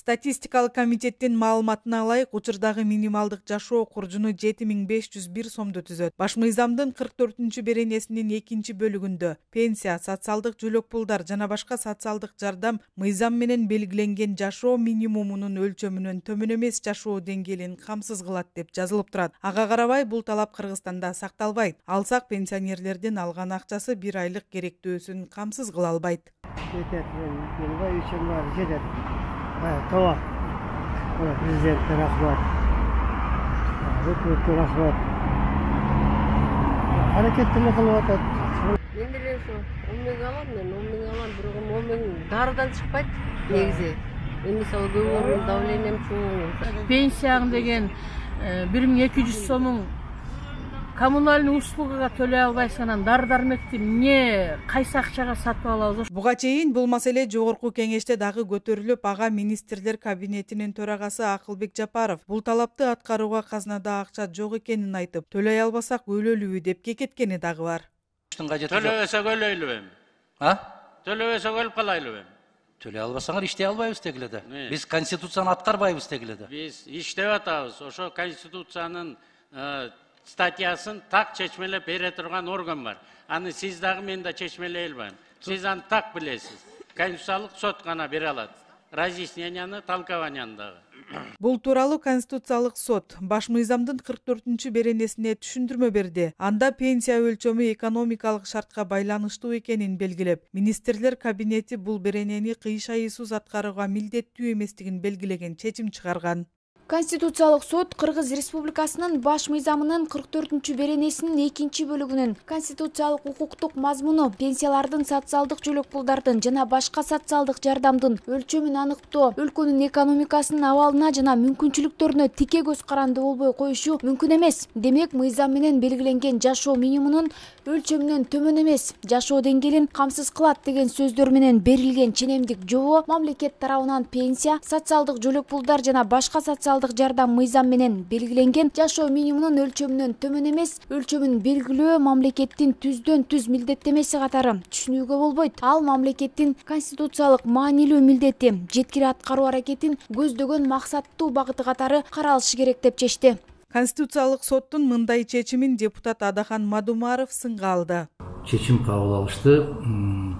Статистикалык комитеттин маалыматына ылайык, учурдагы минималдык жашоо куржуну 7501 сомду түзөт. Баш мыйзамдын 44-чү беренесинин 2 бөлүгүндө пенсия, социалдык жөлөк пулдар жана башка социалдык жардам мыйзам менен белгиленген жашоо минимумунун өлчөмүнөн төмөн эмес жашоо деңгээлин камсыз кылат деп жазылып турат. Ага карабай, бул талап Кыргызстанда сакталбайт. Алсак, пенсионерлердин алган акчасы 1 айлык керектөөсүн камсыз кыла албайт. Tamam. Президентке рахмат. Өкмөткө рахмат. Аракеттене кылып атат. Мен деле ошо 10 миң алам, мен 10 миң алам, бирок 10 миң дарыдан чыкпайт негизи. Мен мисалы көбөрүм, давлением чоң. Пенсияң деген 1200 сомуң коммунальный услугага төлөй албайсың, анан дары-дармекти эмне кайсы акчага сатып алабыз? Буга чейин бул маселе жогорку кеңеште дагы көтөрүлүп, ага министрлер кабинетинин төрагасы Акылбек Жапаров бул талапты аткарууга казнада акча жок экенин айтып, төлөй албасак өлөлүбү деп кекеткени дагы бар. Төлөбөсөк өлөйлүбү эми? Төлөбөсөк өлүп калайлыбы эми? Төлөй албасаңар иштей албайбыз дегиле да. Биз конституцияны аткарбайбыз дегиле да. Биз иштеп атабыз. Ошо конституциянын статьясын так чечмелеп бере турган орган бар. Аны сиз дагы мен да чечмелей албайм. Сиз аны так билесиз. Конституциялык сот гана бере алат. Разъясненияны, толкованияны дагы. Бул тууралуу Конституциялык сот баш мыйзамдын 44-чү беренесине түшүндүрмө берди. Анда пенсия өлчөмү экономикалык шартка байланыштуу экенин белгилеп, министрлер кабинети бул беренени кыйшайысыз аткарууга милдеттүү эместигин белгилеген чечим чыгарган. Конституциялык сот Кыргыз Республикасынын баш мыйзамынын 44-чү беренесинин 2 бөлүгүнүн конституциялык укуктук мазмуну пенсиялардын, социалдык жөлөк пулдардын жана башка социалдык жардамдын өлчөмүн аныктоо, өлкөнүн экономикасынын абалына жана мүмкүнчүлүктөрүнө тике көз каранды болбой коюшу мүмкүн эмес. Демек, мыйзам менен белгиленген жашоо минимумунун өлчөмүнөн төмөн эмес жашоо деңгээлин камсыз кылат деген сөздөр менен берилген ченемдик жобо мамлекет тарабынан пенсия, социалдык жөлөк пулдар жана башка социалдык жардам мыйзам менен белгиленген жашоо минимумунун өлчөмүнөн төмөн эмес өлчөмүн белгилөө мамлекеттин түздөн түз милдеттемеси катары түшүнүүгө болбойт. Ал мамлекеттин конституциялык маанилүү милдети, жеткири аткаруу аракетин көздөгөн максаттуу багыты катары каралышы керек деп чечти. Конституциялык соттун мындай чечимин депутат Адахан Мадумаров сынга алды. Чечим кабыл алышты.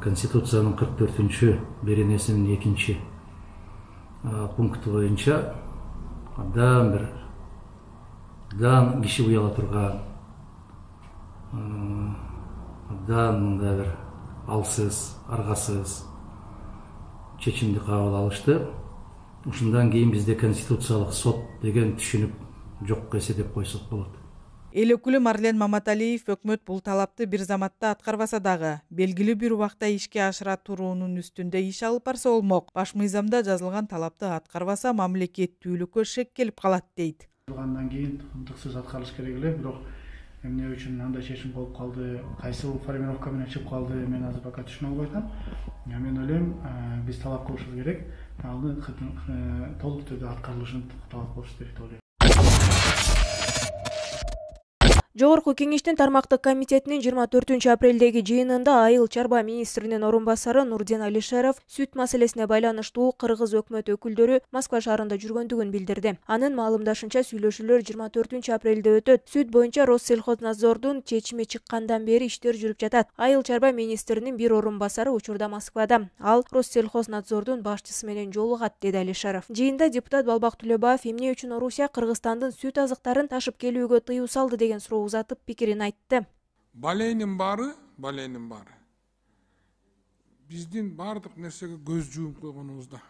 Конституциянын 44-чү беренесинин 2 пункту боюнча абдан киши уяла турган, абдан мындай бир алсыз, аргасыз чечимди кабыл алышты. Ушундан кийин бизде конституциялык сот деген түшүнүк жок эсеп койсок болот. Эл өкүлү Марлен Маматалиев өкмөт бул талапты бир заматта аткарбаса дагы, белгилүү бир убакта ишке ашыра туруунун үстүндө иш алып барса болмок. Баш мыйзамда жазылган талапты аткарбаса мамлекеттүүлүккө шек келип калат дейт. Андан кийин ынтыксыз аткарылыш керек эле, бирок эмне үчүн андай чечим болуп калды, кайсы формировка менен чыгып калды, мен азыр пока түшүнө албай атам. Мен ойлойм, биз талап кылышыбыз керек, аны толук түрдө аткарылышын талап кылыш керек деп ойлойм. Жогорку кеңештин тармактык комитетинин 24 апрелдеги жыйынында Айыл чарба министринин орун басары Нурден Алишеров сүт маселесине байланыштуу кыргыз өкмөт өкүлдөрү Москва шаарында жүргөндүгүн билдирди. Анын маалымдашынча, сүйлөшүүлөр 24 апрелде өтөт. Сүт боюнча Россельхознадзордун чечими чыккандан бери иштер жүрүп жатат. Айыл чарба министринин бир орун басары учурда Москвада. Ал Россельхознадзордун башчысы менен жолугат, деди Алишеров. Жыйында депутат Балбак Түлөбаев эмне үчүн Орусия Кыргызстандын сүт азыктарын ташып келүүгө тыюу салды деген суроо узатып пикирин айтты. Баленин бары. Биздин бардык нерсеге көз жууп койгонубузда.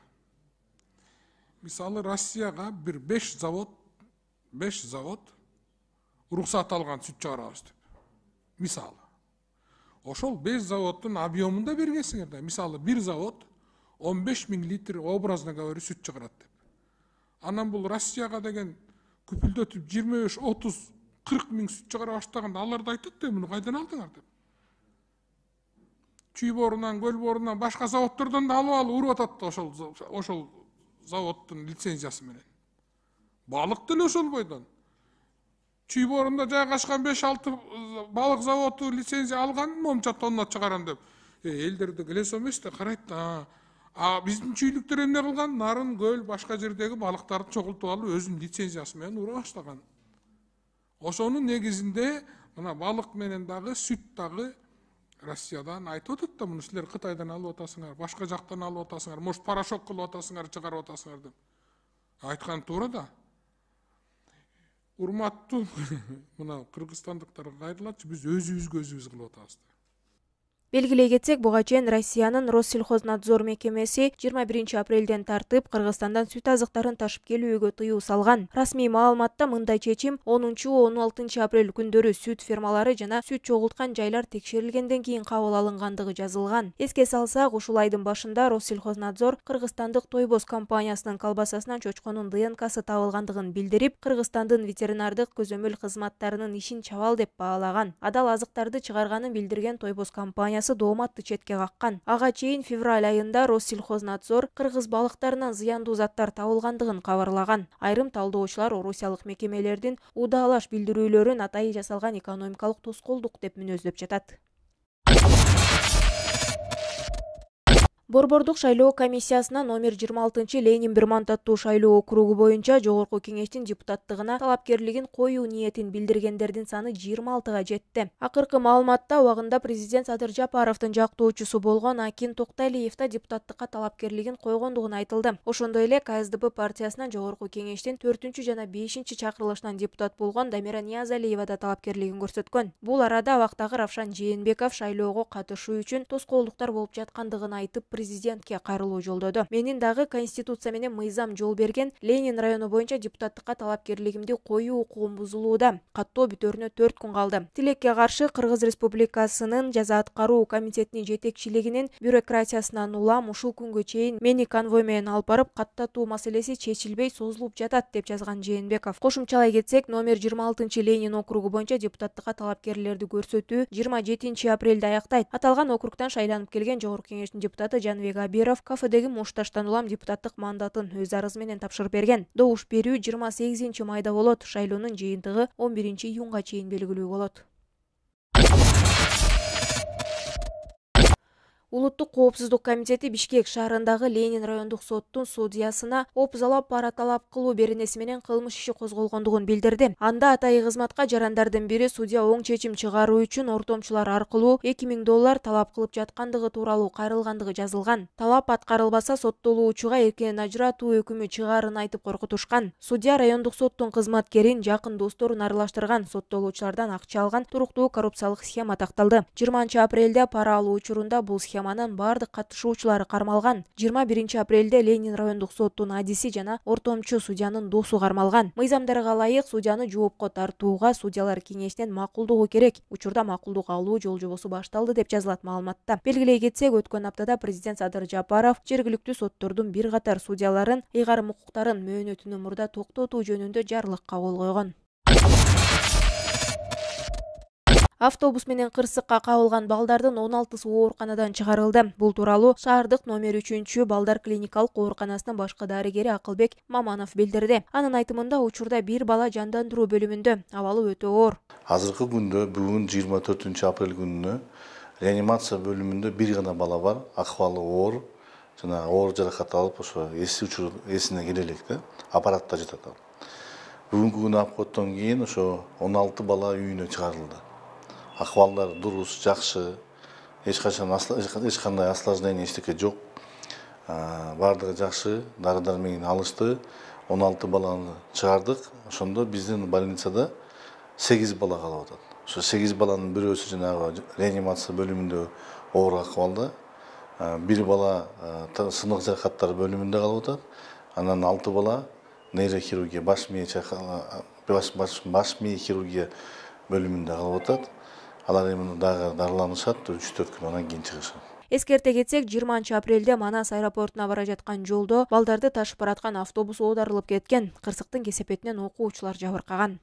Мисалы Россияга бир 5 завод уруксат алган сүт чыгарабыз деп. Мисалы. Ошол 5 заводдун объемунда бергенсиңер да. Мисалы бир завод 15 000 литр образно говоря сүт чыгарат деп. Анан бул Россияга деген күпүлдөтүп 25-30 40 000 сүт чыгара баштаганда алар да айтат да, муну кайдан алдыңар деп. Чүй борунан, көл борунан, башка заводдордон да алып уруп атат да ошол заводдун лицензиясы менен. Балык деле ошол бойдон. Чүй борунда жайгашкан 5-6 балык заводу лицензия алган, момча тонна чыгарам деп. Элдерде келесо эмес да, карайт да. биздин чүйлүктөр эмне кылган? Нарын, көл, башка жердеги балыктарды чогултуп алып өзүнүн лицензиясы менен ура баштаган. Ошонун негизинде мына балык менен дагы сүт дагы Россиядан айтып атат да, муну силер Кытайдан алып атасыңар, башка жактан алып атасыңар, может порошок кылып атасыңар, чыгарып атасыңар деп. Айткан туура да. Урматтуу мына кыргызстандыктарга кайрылатчы, биз өзүбүзгө өзүбүз кылып атабыз. Белгилей кетсек, буга чейин Россиянын Россельхознадзор мекемеси 21 апрелден тартып Кыргызстандан сүт азыктарын ташып келүүгө тыюу салган. Расмий маалыматта мындай чечим 10-16 апрель күндөрү сүт фермалары жана сүт чогулткан жайлар текшерилгенден кийин кабыл алынгандыгы жазылган. Эске салсак, ушул айдын башында Россельхознадзор кыргызстандык Тойбоз компаниясынын колбасасынан чочконун ДНКсы табылгандыгын билдирип, Кыргызстандын ветеринардык көзөмөл кызматтарынын ишин чабал деп баалаган. Адал азыктарды чыгарганын билдирген Тойбоз компаниясы дооматты четке каккан. Ага чейин февраль айында Россельхознадзор кыргыз балыктарынан зыяндуу заттар табылгандыгын кабарлаган. Айрым талдоочулар орусиялык мекемелердин удаалаш билдирүүлөрүн атайын жасалган экономикалык тоскоолдук деп мүнөздөп жатат. Борбордук шайлоо комиссиясына номер 26 Ленин бир мандаттуу шайлоо округу боюнча жогорку кеңештин депутаттыгына талапкерлигин коюу ниетин билдиргендердин саны 26га жетти. Акыркы маалыматта убагында президент Садыр Жапаровдун жактоочусу болгон Акин Токталиев да депутаттыкка талапкерлигин койгондугун айтылды. Ошондой эле КСДП партиясынан жогорку кеңештин 4 жана 5 чакырылышынан депутат болгон Дамира Ниязалиева да талапкерлигин көрсөткөн. Бул арада абактагы Равшан Жээнбеков шайлоого катышуу үчүн тоскоолдуктар болуп жаткандыгын айтып, президентке кайрылуу жолдоду. Менин дагы конституция менен мыйзам жол берген Ленин району боюнча депутаттыкка талапкерлигимди коюу укугум бузулууда. Каттоо бүтөрүнө 4 күн калды. Тилекке каршы Кыргыз Республикасынын жаза аткаруу комитетинин жетекчилигинин бюрократиясынан улам ушул күнгө чейин мени конвой менен алып барып каттатуу маселеси чечилбей созулуп жатат деп жазган Жээнбеков. Кошумчалай кетсек, номер 26 Ленин округу боюнча депутаттыкка талапкерлерди көрсөтүү 27 апрелде аяктайт. Аталган округтан шайланып келген жогорку кеңештин депутаты Жанбек Абиров кафедеги мушташтан улам депутаттык мандатын өз арызы менен тапшырып берген. Добуш берүү 28 майда болот. Шайлоонун жыйынтыгы 11 июнга чейин белгилүү болот. Улуттук коопсуздук комитети Бишкек шаарындагы Ленин райондук соттун судьясына опузалап пара талап кылуу беренеси менен кылмыш иши козголгондугун билдирди. Анда атайы кызматка жарандардын бири судья оң чечим чыгаруу үчүн ортомчулар аркылуу $2000 талап кылып жаткандыгы тууралуу кайрылгандыгы жазылган. Талап аткарылбаса соттолуучуга эркинен ажыратуу өкүмү чыгаарын айтып коркутушкан. Судья райондук соттун кызматкерин жакын досторун аралаштырган, соттолуучулардан акча алган туруктуу коррупциялык схема такталды. 20 апрелде пара алуу учурунда бул схеманын бардык катышуучулары кармалган. 21 апрелде Ленин райондук соттун адиси жана ортомчу судьянын досу кармалган. Мыйзамдарга ылайык судьяны жоопко тартууга судьялар кеңешинин макулдугу керек. Учурда макулдук алуу жол жобосу башталды деп жазылат маалыматта. Белгилей кетсек, өткөн аптада президент Садыр Жапаров жергиликтүү соттордун бир катар судьяларын ыйгарым укуктарын мөөнөтүнөн мурда токтотуу жөнүндө жарлыкка кол койгон. Автобус менен кырсыкка кабылган балдардын 16сы ооруканадан чыгарылды. Бул тууралуу шаардык номер 3 балдар клиникалык ооруканасынын башкы дарыгери Акылбек Маманов билдирди. Анын айтымында учурда бир бала жандандыруу бөлүмүндө, абалы өтө оор. Азыркы күндө бүгүн 24 апрель күнүнө реанимация бөлүмүндө бир гана бала бар, акыбалы оор, жана оор жаракат алып ошо эсине келе элек да, аппаратта жатат. Бүгүнкү күнү апкоттон кийин ошо 16 бала үйүнө чыгарылды. Акыбалдар дурус, жакшы, эч кандай осложнение эчтеке жок. Бардыгы жакшы, дары-дармегин алышты. 16 баланы чыгардык. Ошондо биздин больницада 8 бала калып атат. Ошо 8 баланын бирөөсү жанагы реанимация бөлүмүндө оор акыбалда, бир бала сынык жаракаттар бөлүмүндө калып атат. Анан 6 бала нейрохирургия, баш мээ хирургия бөлүмүндө калып атат. Алар эми дагы дарыланышат, 3-4 күн анан кийин чыгышат. Эскерте кетсек, 20 апрелде Манас аэропортуна бара жаткан жолдо балдарды ташып бараткан автобус оодарылып кеткен. Кырсыктын кесепетинен окуучулар жабыркаган.